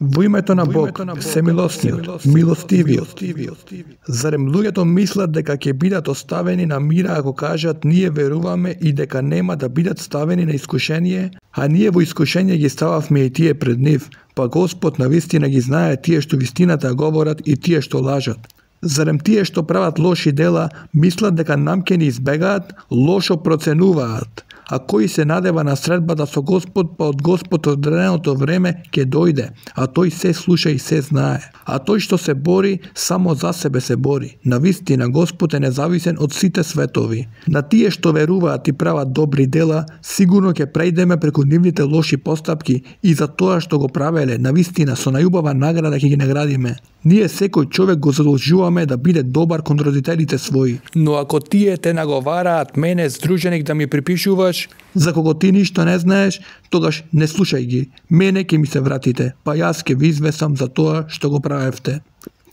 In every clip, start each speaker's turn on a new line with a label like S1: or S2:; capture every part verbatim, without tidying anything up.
S1: Во името на Бог, всемилосниот, милостивиот. Зарем луѓето мислат дека ќе бидат оставени на мира ако кажат ние веруваме и дека нема да бидат ставени на искушение, а ние во искушение ги стававме и тие пред нив, па Господ навистина ги знае тие што вистината говорат и тие што лажат. Зарем тие што прават лоши дела мислат дека нам ќе ни избегаат, лошо проценуваат. А кој се надева на средбата со Господ, па од Господ одреденото време ќе дојде, а тој се слуша и се знае. А тој што се бори, само за себе се бори. Навистина Господ е независен од сите светови. На тие што веруваат и прават добри дела, сигурно ќе прејдеме преку нивните лоши постапки и за тоа што го правеле, навистина со најубава награда ќе ги наградиме. Ние секој човек го задолжуваме да биде добар кон родителите своји. Но ако тие те наговараат мене, здруженик, да ми припишуваш, за кого ти ништо не знаеш, тогаш не слушај ги. Мене ќе ми се вратите, па јас ќе ви извесам за тоа што го правевте.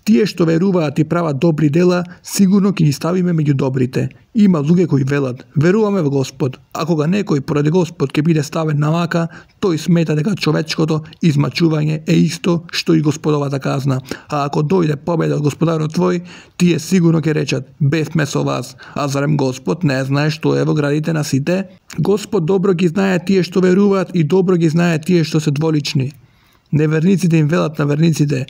S1: Тие што веруваат и прават добри дела, сигурно ќе ги ставиме меѓу добрите. Има луѓе кои велат, веруваме во Господ, а кога некој поради Господ ќе биде ставен на мака, тој смета дека човечкото измачување е исто што и Господовата казна. А ако дојде победа од Господарот твој, тие сигурно ќе речат, бевме со вас, а зарем Господ не знае што е во градите на сите? Господ добро ги знае тие што веруваат и добро ги знае тие што се дволични. Неверниците им велат на верниците,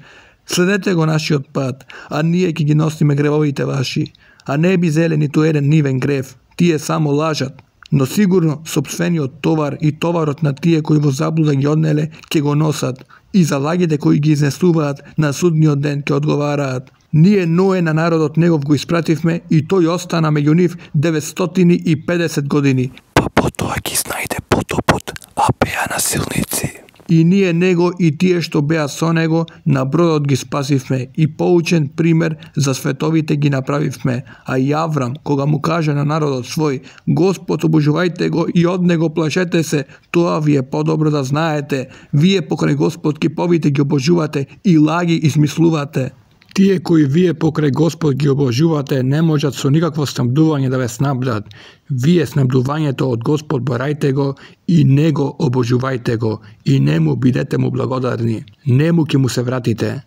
S1: следете го нашиот пат, а ние ќе ги носиме гревовите ваши. А не би зеле ниту еден нивен грев, тие само лажат. Но сигурно сопствениот товар и товарот на тие кои во заблуда ги однеле ќе го носат. И за лагите кои ги изнесуваат на судниот ден ќе одговараат. Ние Ное на народот негов го испративме и тој остана меѓу нив деветстотини и педесет години.
S2: Па потоа ги знајде потопот, а беа насилници.
S1: И ние него и тие што беа со него на бродот ги спасивме и поучен пример за световите ги направивме. А и Аврам, кога му каже на народот свој, Господ обожувајте го и од него плашете се, тоа ви е подобро да знаете. Вие покрај Господ киповите ги обожувате и лаги измислувате. Тие кои вие покрај Господ ги обожувате не можат со никакво снабдување да ве снабдат. Вие снабдувањето од Господ барајте го и него обожувајте го и нему бидете му благодарни. Нему ќе му се вратите.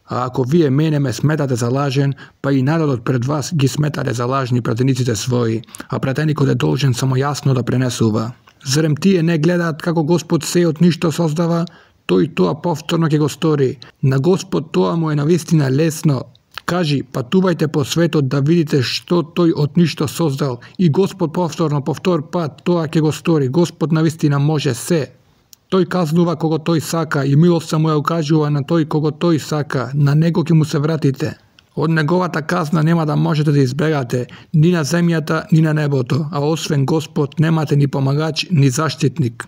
S1: А ако вие мене ме сметате за лажен, па и народот пред вас ги сметате за лажни пратениците своји, а пратеникот е должен само јасно да пренесува. Зарем тие не гледаат како Господ се од ништо создава, тој тоа повторно ќе го стори. На Господ тоа му е навистина лесно. Кажи, патувајте по светот да видите што тој од ништо создал и Господ повторно, повтор пат тоа ќе го стори. Господ навистина може се. Тој казнува кого тој сака и милоста му ја укажува на тој кого тој сака. На него ќе му се вратите. Од неговата казна нема да можете да избегате ни на земјата, ни на небото, а освен Господ немате ни помагач, ни заштитник.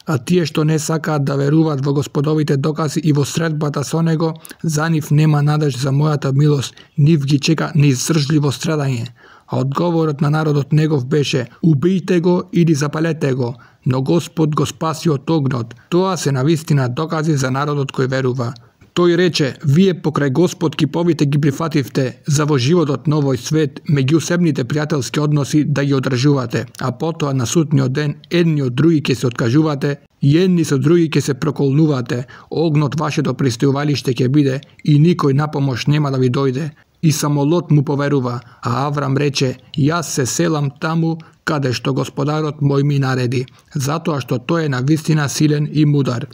S1: А тие што не сакаат да веруваат во Господовите докази и во средбата со него, за нив нема надеж за мојата милост, нив ги чека неиздржливо страдање. А одговорот на народот негов беше, убијте го или запалете го, но Господ го спаси од огнот. Тоа се навистина докази за народот кој верува. Тој рече, вие покрај Господ киповите ги прифативте за во животот на овој свет меѓусебните пријателски односи да ги одржувате, а потоа на судниот ден едни од други ќе се откажувате и едни со други ќе се проколнувате. Огнот вашето пристигувалиште ќе биде и никој на помош нема да ви дојде. И само Лот му поверува, а Аврам рече, јас се селам таму каде што Господарот мој ми нареди, затоа што тој е навистина силен и мудар.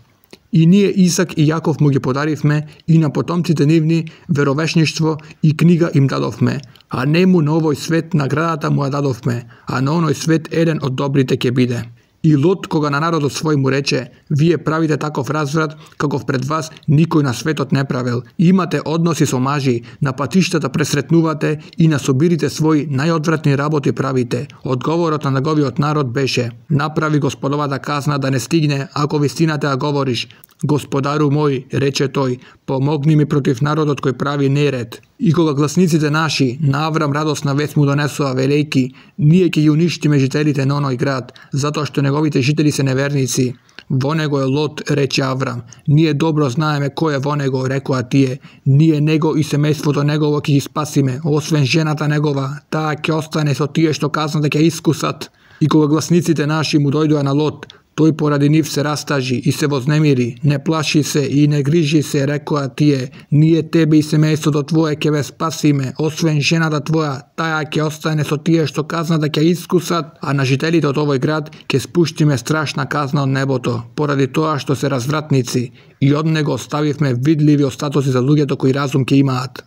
S1: И ние Исак и Јаков му ги подаривме и на потомците нивни веровешништво и книга им дадовме, а нему на овој свет наградата му ја дадовме, а на оној свет еден од добрите ќе биде. И Лот, кога на народот свој му рече, вие правите таков разврат, каков пред вас никој на светот не правел. Имате односи со мажи, на патиштата пресретнувате и на собирите своји најодвратни работи правите. Одговорот на неговиот народ беше, направи Господовата казна да не стигне, ако вистината ја говориш. Господару мој, рече тој, помогни ми против народот кој прави неред. И кога гласниците наши на Аврам радосна вест му донесува велејки, ние ќе ги уништиме жителите на оној град, затоа што неговите жители се неверници. Во него е Лот, рече Аврам. Ние добро знаеме кој е во него, рекоа тие. Ние него и семејството негово ќе ги спасиме, освен жената негова, таа ќе остане со тие што казна да ќе искусат. И кога гласниците наши му дојдоа на Лот, Тој поради нив се растажи и се вознемири, не плаши се и не грижи се, рекоа тие, ние тебе и семејството твое ќе ве спасиме, освен жената твоја, таја ќе остане со тие што казната ќе искусат, а на жителите од овој град ќе спуштиме страшна казна од небото, поради тоа што се развратници, и од него оставивме видливи остатоци за луѓето кои разум ќе имаат.